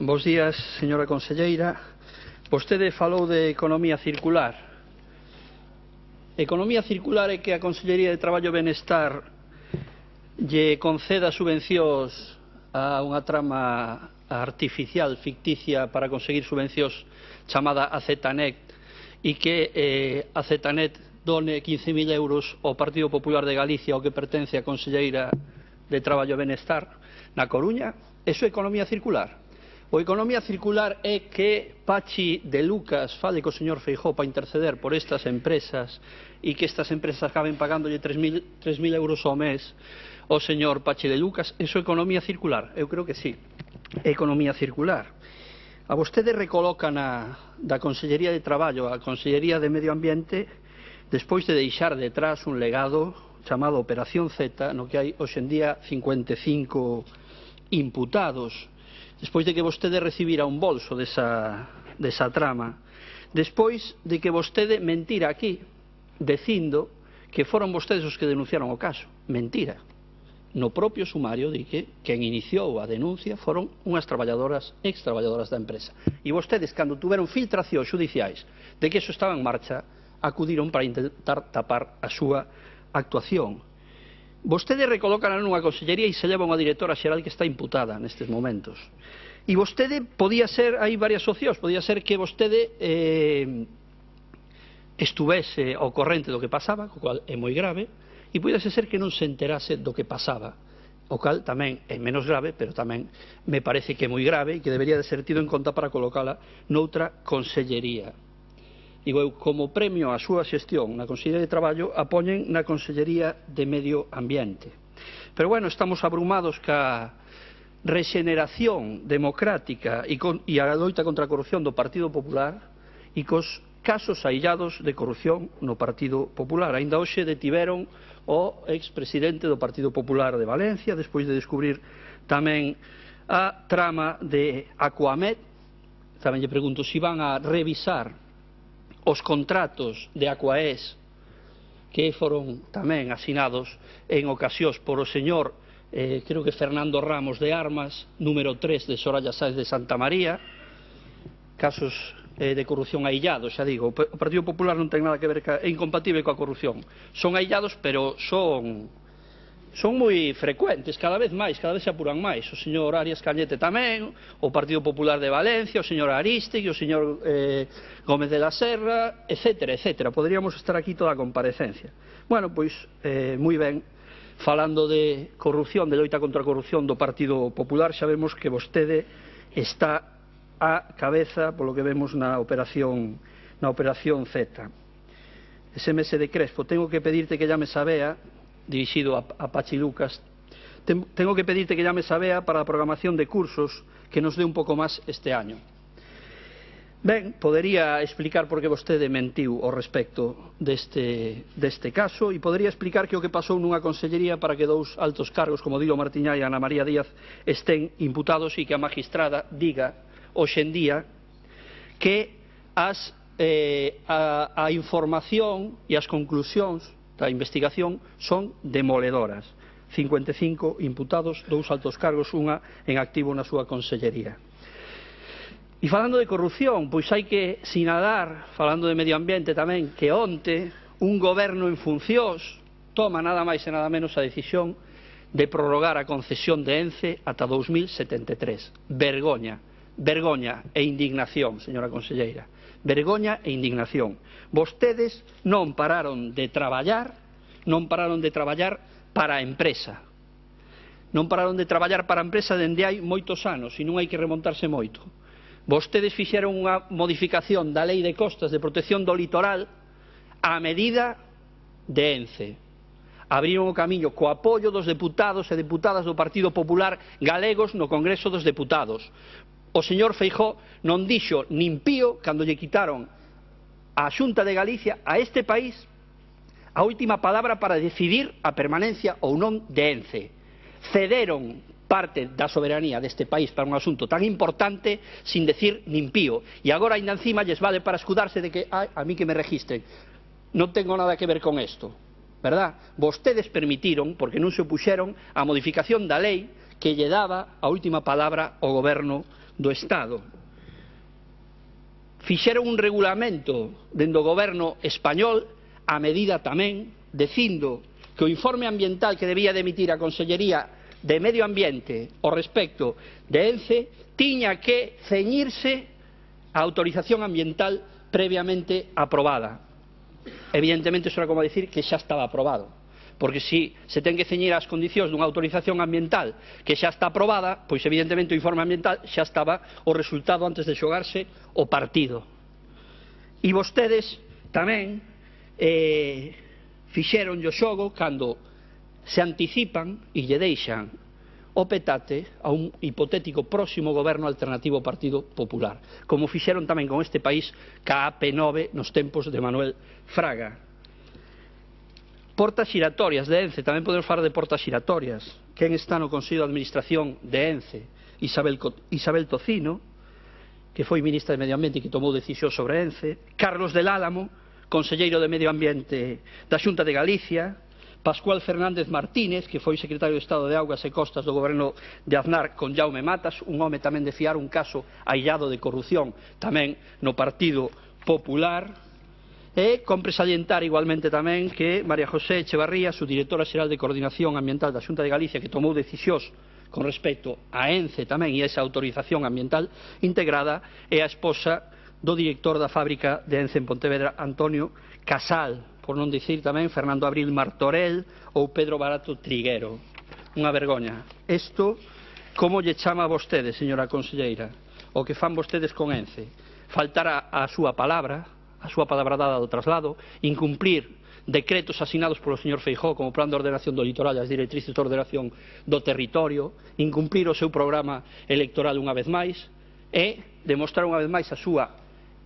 Bos días, señora conselleira. Vostede falou de economía circular. Economía circular é que a Consellería de Traballo e Benestar lle conceda subvencións a unha trama artificial, ficticia, para conseguir subvencións chamada AZNet, e que AZNet done 15.000 euros ao Partido Popular de Galicia, ao que pertence a Conselleira de Traballo e Benestar na Coruña. Eso é economía circular. O economía circular é que Pachi de Lucas fale co señor Feijóo para interceder por estas empresas e que estas empresas acaben pagándolle 3.000 euros ao mes ao señor Pachi de Lucas. Eso é economía circular? Eu creo que sí, é economía circular. A vostede recoloca da Consellería de Traballo a Consellería de Medio Ambiente despois de deixar detrás un legado chamado Operación Z, no que hai hoxendía 55 imputados, despois de que vostede recibira un bolso desa trama, despois de que vostede mentira aquí, dicindo que foron vostedes os que denunciaron o caso. Mentira. No propio sumario di que quen iniciou a denuncia foron unhas ex-traballadoras da empresa. E vostedes, cando tuveron filtracións xudiciais de que eso estaba en marcha, acudiron para intentar tapar a súa actuación. Vostede recolócana nunha consellería e se leva unha directora xeral que está imputada nestes momentos. E vostede podía ser, hai varias opcións, podía ser que vostede estuvese ao corrente do que pasaba, o cual é moi grave, e podía ser que non se enterase do que pasaba, o cual tamén é menos grave, pero tamén me parece que é moi grave e que debería de ser tido en conta para colocala noutra consellería. Digo eu, como premio á súa xestión na Consellería de Traballo, a poñen na Consellería de Medio Ambiente. Pero bueno, estamos abrumados ca rexeneración democrática e a loita contra a corrupción do Partido Popular e cos casos aillados de corrupción no Partido Popular. Ainda hoxe detiveron o expresidente do Partido Popular de Valencia, despois de descubrir tamén a trama de Aquamed. Tamén lle pregunto se van a revisar os contratos de Aquaes que foron tamén asinados en ocasións por o señor creo que Fernando Ramos de Armas, número 3 de Soraya Sáenz de Santa María, casos de corrupción aillados, xa digo. O Partido Popular non ten nada que ver, é incompatible coa corrupción. Son aillados, pero son moi frecuentes, cada vez se apuran máis. O señor Arias Cañete tamén, o Partido Popular de Valencia, o señor Arístegui, o señor Gómez de la Serra, etcétera, etcétera. Poderíamos estar aquí toda a comparecencia. Bueno, pois, moi ben, falando de corrupción, de loita contra a corrupción do Partido Popular, xa vemos que vostede está á cabeza, polo que vemos na Operación Z. SMS de Crespo, tengo que pedirte que llames a Bea, dirixido a Pachi Lucas, tengo que pedirte que llames a Bea para a programación de cursos que nos dé un pouco máis este año. Ben, podería explicar por que vostede mentiu ao respecto deste caso e podería explicar que o que pasou nunha consellería para que dous altos cargos como Dilo Martiñá e Ana María Díaz estén imputados e que a magistrada diga hoxendía que a información e as conclusións da investigación son demoledoras. 55 imputados, dous altos cargos, unha en activo na súa consellería. E falando de corrupción, pois hai que sinalar, falando de medio ambiente tamén, que onte un goberno en funcións toma nada máis e nada menos a decisión de prorrogar a concesión de ENCE ata 2073. Vergoña, vergoña e indignación, señora conselleira. Vergoña e indignación. Vostedes non pararon de traballar para a empresa. Non pararon de traballar para a empresa dende hai moitos anos e non hai que remontarse moito. Vostedes fixeron unha modificación da Lei de Costas de Protección do Litoral a medida de ENCE. Abriron o camiño co apoio dos deputados e deputadas do Partido Popular galegos no Congreso dos Deputados. O señor Feijóo non dixo nin pío cando lle quitaron a Xunta de Galicia a este país a última palabra para decidir a permanencia ou non de ENCE. Cederon parte da soberanía deste país para un asunto tan importante sin decir nin pío. E agora ainda encima lles vale para escudarse de que a mí que me registren. Non tengo nada que ver con isto, verdad? Vostedes permitiron, porque non se opuxeron, a modificación da lei que lle daba a última palabra ao goberno do Estado. Fixeron un regulamento dentro do goberno español a medida tamén dicindo que o informe ambiental que debía de emitir a Consellería de Medio Ambiente ao respecto de ENCE tiña que ceñirse a autorización ambiental previamente aprobada. Evidentemente, iso era como decir que xa estaba aprobado, porque se ten que ceñir ás condicións dunha autorización ambiental que xa está aprobada, pois evidentemente o informe ambiental xa estaba o resultado antes de xogarse o partido. E vostedes tamén fixeron o xogo cando se anticipan e lle deixan o petate a un hipotético próximo goberno alternativo ao Partido Popular, como fixeron tamén con este país ca AP9 nos tempos de Manuel Fraga. Portas xiratorias de ENCE, tamén podemos falar de portas xiratorias. Quen está no Consello de Administración de ENCE? Isabel Tocino, que foi ministra de Medio Ambiente e que tomou decisións sobre ENCE, Carlos del Álamo, conselleiro de Medio Ambiente da Xunta de Galicia, Pascual Fernández Martínez, que foi secretario de Estado de Augas e Costas do goberno de Aznar con Jaume Matas, un home tamén de fiar, un caso aillado de corrupción tamén no Partido Popular. E compre salientar igualmente tamén que María José Echevarría, subdirectora xeral de Coordinación Ambiental da Xunta de Galicia, que tomou decisións con respecto a ENCE tamén e a esa autorización ambiental integrada, é a esposa do director da fábrica de ENCE en Pontevedra, Antonio Casal, por non dicir tamén Fernando Abril Martorell ou Pedro Barato Triguero. Unha vergoña. Isto, como lle chama a vostede, señora conselleira, o que fan vostedes con ENCE? Faltar a súa palabra dada do traslado, incumplir decretos asinados polo señor Feijóo como Plan de Ordenación do Litoral e as directrices de ordenación do territorio, incumplir o seu programa electoral unha vez máis e demostrar unha vez máis a súa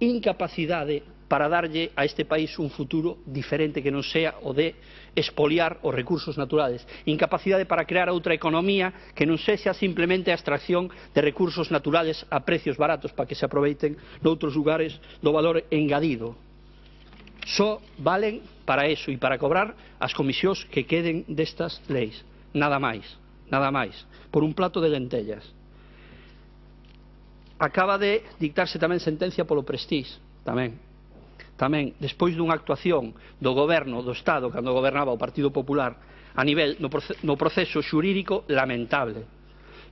incapacidade para darlle a este país un futuro diferente que non sea o de expoliar os recursos naturales, incapacidade para crear outra economía que non sexa simplemente a extracción de recursos naturales a precios baratos para que se aproveiten noutros lugares do valor engadido. Só valen para eso e para cobrar as comisións que queden destas leis, nada máis, por un plato de lentellas. Acaba de dictarse tamén sentencia polo Prestige, tamén, despois dunha actuación do goberno do Estado, cando gobernaba o Partido Popular, a nivel no proceso xurídico lamentable,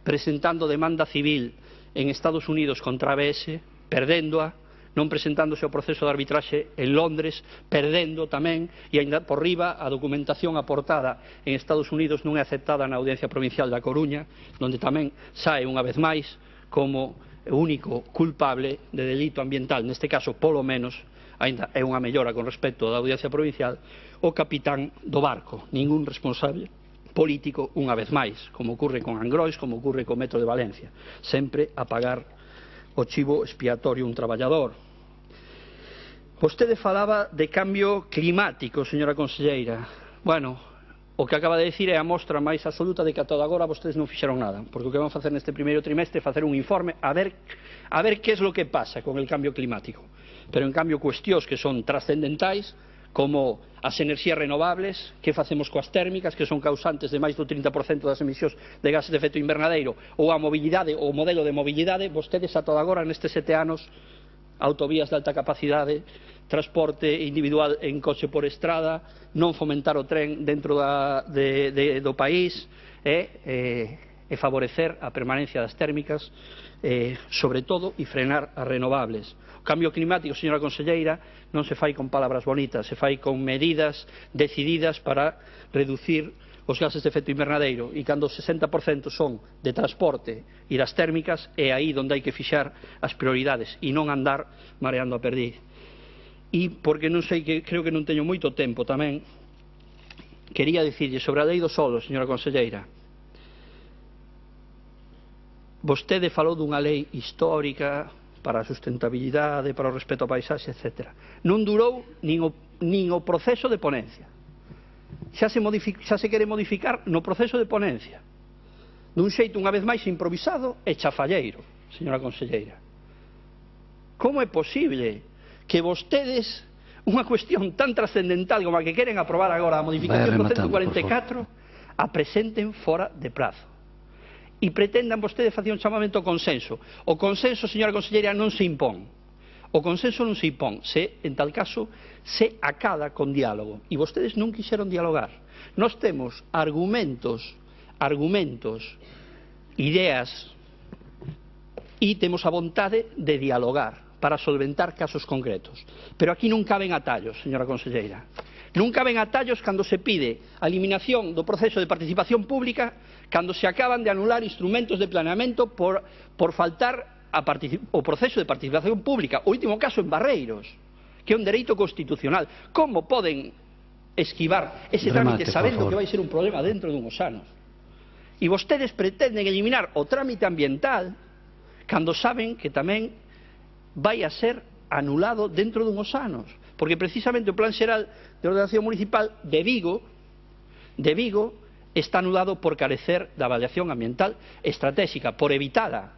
presentando demanda civil en Estados Unidos contra a ABS, perdéndoa, non presentándose ao proceso de arbitraxe en Londres, perdendo tamén, e ainda por riba a documentación aportada en Estados Unidos non é aceptada na Audiencia Provincial da Coruña, onde tamén sae unha vez máis como o único culpable de delito ambiental, neste caso polo menos, ainda é unha mellora con respecto da Audiencia Provincial, o capitán do barco, ningún responsable político unha vez máis, como ocurre con Angrois, como ocurre co Metro de Valencia, sempre a pagar o chivo expiatorio un traballador. Vostede falaba de cambio climático, señora conselleira. Bueno, o que acaba de dicir é a mostra máis absoluta de que ata agora vostedes non fixeron nada, porque o que van facer neste primeiro trimestre é facer un informe a ver que é lo que pasa con el cambio climático. Pero en cambio cuestións que son trascendentais, como as enerxías renovables, que facemos coas térmicas, que son causantes de máis do 30% das emisións de gases de efecto invernadeiro, ou a mobilidade, ou o modelo de mobilidade, vostedes ata agora nestes 7 anos, autovías de alta capacidade, transporte individual en coche por estrada, non fomentar o tren dentro do país e favorecer a permanencia das térmicas, sobre todo, e frenar as renovables. O cambio climático, señora conselleira, non se fai con palabras bonitas, se fai con medidas decididas para reducir os gases de efecto invernadeiro, e cando o 60% son de transporte e das térmicas é aí onde hai que fixar as prioridades e non andar mareando a perdiz. E porque non sei, que creo que non teño moito tempo tamén, quería dicirlle sobre a lei do solo, señora conselleira. Vostede falou dunha lei histórica para a sustentabilidade, para o respeto ao paisaxe, etc. Non durou nin o proceso de ponencia. Xa se quere modificar no proceso de ponencia, dun xeito unha vez máis improvisado e chafalleiro, señora conselleira. Como é posible que vostedes, unha cuestión tan trascendental como a que queren aprobar agora, a modificación do 144, a presenten fora de prazo? e pretendan vostedes facer un chamamento ao consenso. O consenso, señora conselleira, non se impón. O consenso non se impón, en tal caso, se acada con diálogo. E vostedes non quixeron dialogar. Nós temos argumentos, ideas, e temos a vontade de dialogar para solventar casos concretos. Pero aquí non caben atallos, señora conselleira. Non caben atallos cando se pide a eliminación do proceso de participación pública, cando se acaban de anular instrumentos de planeamento por faltar o proceso de participación pública. O último caso en Barreiros, que é un dereito constitucional. Como poden esquivar ese trámite sabendo que vai ser un problema dentro dunhos anos? E vostedes pretenden eliminar o trámite ambiental cando saben que tamén vai a ser anulado dentro dunhos anos, porque precisamente o Plan Xeral de Ordenación Municipal de Vigo está anulado por carecer da avaliación ambiental estratégica, por evitada.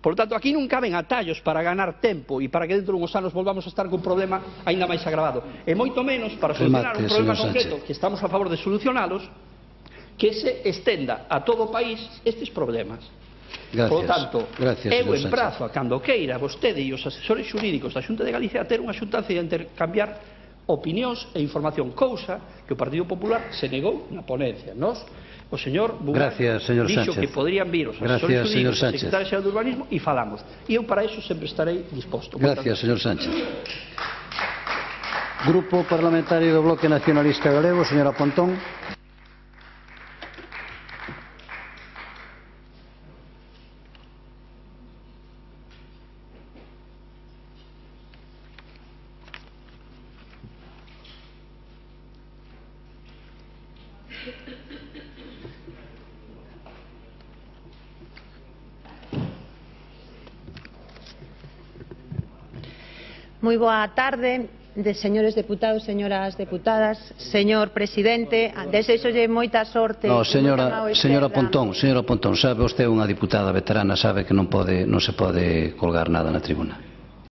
Por tanto, aquí non caben atallos para ganar tempo e para que dentro dunhos anos volvamos a estar con un problema aínda máis agravado, e moito menos para solucionar un problema concreto que estamos a favor de solucionalos, que se estenda a todo o país estes problemas. Por lo tanto, eu emprazo a cando queira vostede e os asesores xurídicos da Xunta de Galicia a ter unha xuntanza de intercambiar opinións e información, cousa que o Partido Popular se negou na ponencia. O señor Bugal dixo que poderían vir os asesores xurídicos da Secretaria Xeral de Urbanismo e falamos. E eu para iso sempre estarei disposto. Gracias, señor Sánchez. Grupo Parlamentario do Bloque Nacionalista Galego, señora Pontón. Moi boa tarde, señores deputados, señoras deputadas, señor presidente, desexolle moita sorte. Señora Pontón, sabe vostede, unha diputada veterana, sabe que non se pode colgar nada na tribuna.